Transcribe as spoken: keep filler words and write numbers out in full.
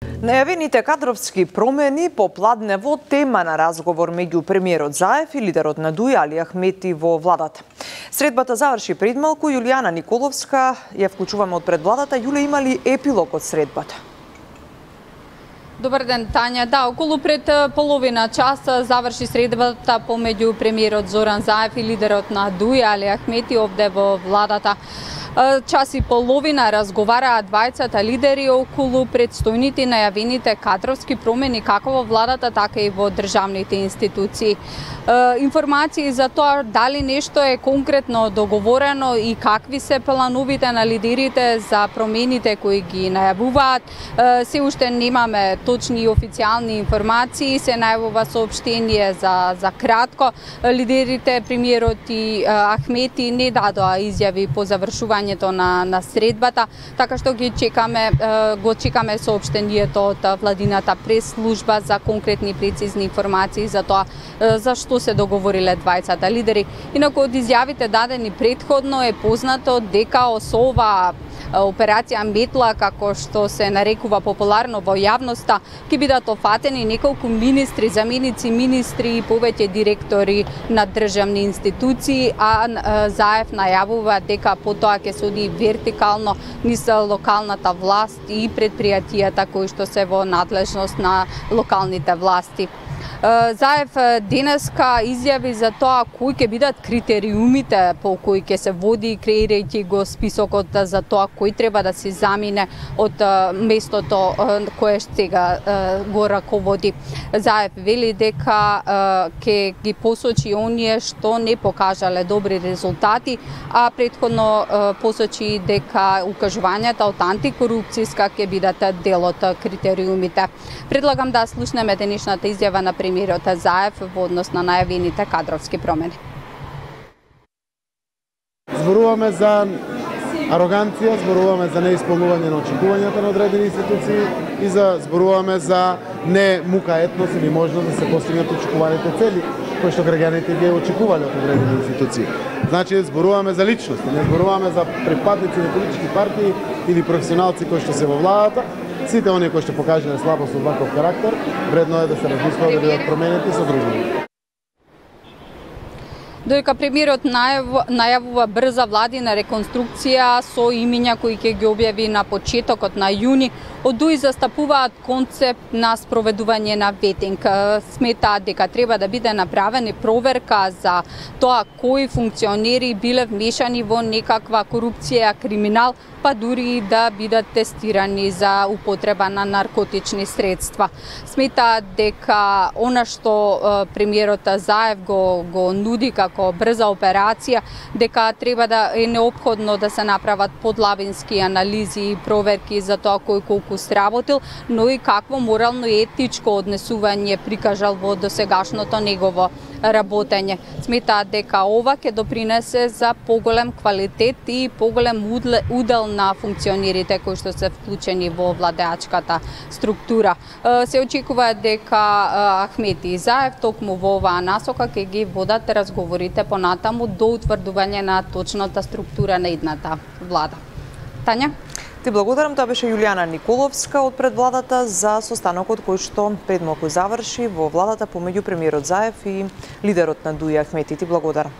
Најавените кадровски промени попладне во тема на разговор меѓу премиерот Заев и лидерот на ДУИ Али Ахмети во владата. Средбата заврши пред малку. Јулијана Николовска ја вклучуваме од пред владата. Јуле, има ли епилог од средбата? Добар ден, Тања. Да, околу пред половина часа заврши средбата помеѓу премиерот Зоран Заев и лидерот на ДУИ Али Ахмети овде во владата. Час и половина разговараа двајцата лидери околу предстојните најавените кадровски промени како во владата, така и во државните институции. Информации за тоа дали нешто е конкретно договорено и какви се плановите на лидерите за промените кои ги најавуваат. Се уште немаме точни и официјални информации, се најавува соопштение за, за кратко. Лидерите, премиерот и Ахмети не дадоа изјави по завршување на, на средбата, така што ги чекаме, го чекаме соопштението од владината прес-служба за конкретни прецизни информации за тоа зашто се договориле двајцата лидери. Инаку од изјавите дадени претходно е познато дека осова операција Метла, како што се нарекува популарно во јавноста, ќе бидат офатени неколку министри, заменици министри и повеќе директори на државни институции, а Заев најавува дека потоа ќе се оди вертикално низ локалната власт и предпријатијата кои што се во надлежност на локалните власти. Заев денеска изјави за тоа кои ќе бидат критериумите по кои ќе се води, креирајќи го списокот за тоа кој треба да се замине од местото кое сега го раководи. Заев вели дека ќе ги посочи оние што не покажале добри резултати, а претходно посочи дека укажувањата од антикорупцијска ќе бидат дел од критериумите. Предлагам да слушнеме денешната изјава на премиерот Заев во однос на најавените кадровски промени. Зборуваме за ароганција, зборуваме за неисполнување на очекувањата на одредени институции и за зборуваме за не мука етнос или можност да се постигнат очекуваните цели кои што граѓаните ги очекувале од одредени институции. Значи зборуваме за личности, не зборуваме за припадници на политички партии или професионалци кои што се во владата. Сите оние кои што покажале слабост од ваков карактер, вредно е да се размислува да бидат променети со други. Додека премиерот најавува брза владина реконструкција со имиња кои ќе ги објави на почетокот на јуни, од ДУИ застапуваат концепт на спроведување на ветинг. Сметаат дека треба да биде направена проверка за тоа кои функционери биле вмешани во некаква корупција, криминал, па дури да бидат тестирани за употреба на наркотични средства. Сметаат дека она што премиерот Заев го, го нуди како брза операција, дека треба да е неопходно да се направат подлабински анализи и проверки за тоа кој колку сработил, но и какво морално и етичко однесување прикажал во досегашното негово работење. Сметаат дека ова ќе допринесе за поголем квалитет и поголем удел на функционерите кои што се вклучени во владеачката структура. Се очекува дека Ахмети и Заев токму во оваа насока ќе ги водат разговорите понатаму до утврдување на точната структура на идната влада. Тања? Ти благодарам, тоа беше Јулијана Николовска од пред владата за состанокот кој што пред малку заврши во владата помеѓу премиерот Заев и лидерот на ДУИ Ахмети. Ти благодарам.